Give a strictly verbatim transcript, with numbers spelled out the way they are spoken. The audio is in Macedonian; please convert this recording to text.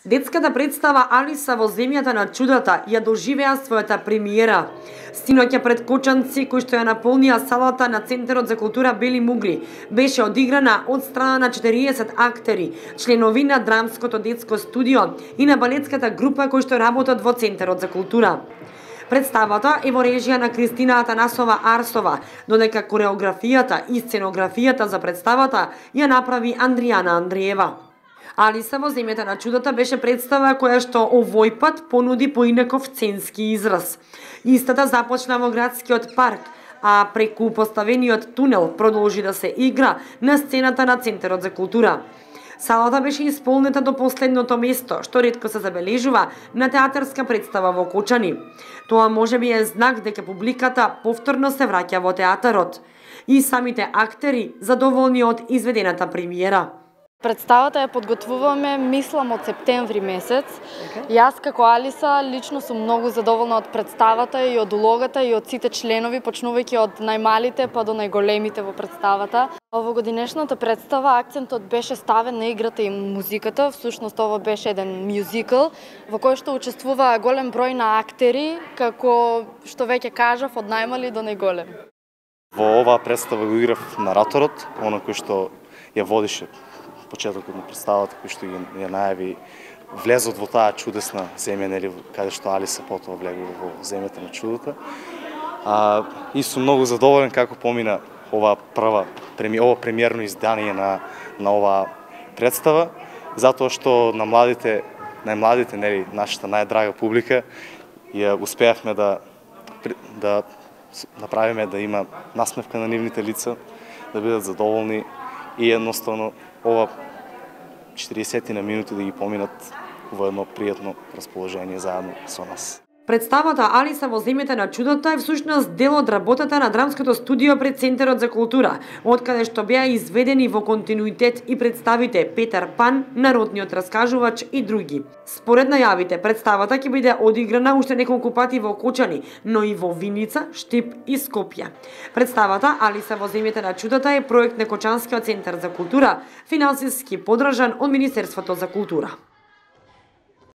Детската представа Алиса во земјата на чудата ја доживеа својата премиера. Синоќа пред кочанци кои што ја наполнија салата на Центарот за култура Бели Мугли беше одиграна од страна на четириесет актери, членови на драмското детско студио и на балетската група кои што работат во Центарот за култура. Представата е во режија на Кристина Атанасова Арсова, додека кореографијата и сценографијата за представата ја направи Андријана Андриева. Алиса во земјата на чудата беше представа која што овој пат понуди поинаков сценски израз. Истата започна во градскиот парк, а преку поставениот тунел продолжи да се игра на сцената на Центарот за култура. Салата беше исполнета до последното место, што ретко се забележува на театарска представа во Кочани. Тоа можеби е знак дека публиката повторно се враќа во театарот. И самите актери задоволни од изведената премиера. Представата ја подготвуваме, мислам, од септември месец. Okay. Јас како Алиса лично сум многу задоволна од представата и од улогата и од сите членови, почнувајќи од најмалите па до најголемите во представата. Во годинешната представа акцентот беше ставен на играта и музиката. Всушност ова беше еден мюзикл во кој што учествува голем број на актери, како што веќе кажав, од најмали до најголем. Во оваа представа го играв нараторот, оно кој што ја водише почетокот на представата, кој што ја најави влезот во таа чудесна земја, нели, каде што Алиса потоа влегува во земјата на чудото. А, и сум многу задоволен како помина ова прва ова премиерно издание на на оваа представа, затоа што на младите, најмладите, нели, нашата најдрага публика, ја успеавме да да направиме да има насмевка на нивните лица, да бидат задоволни и едноставно ова четириесет на минути да ги поминат во едно пријатно расположение заедно со нас. Представата Алиса во земјата на чудото е всушност дел од работата на драмското студио пред Центарот за култура, откаде што беа изведени во континуитет и представите Петар Пан, Народниот раскажувач и други. Според најавите, представата ќе биде одиграна уште неколку пати во Кочани, но и во Виница, Штип и Скопје. Представата Алиса во земјата на чудото е проект на Кочанскиот центар за култура, финансиски поддржан од Министерството за култура.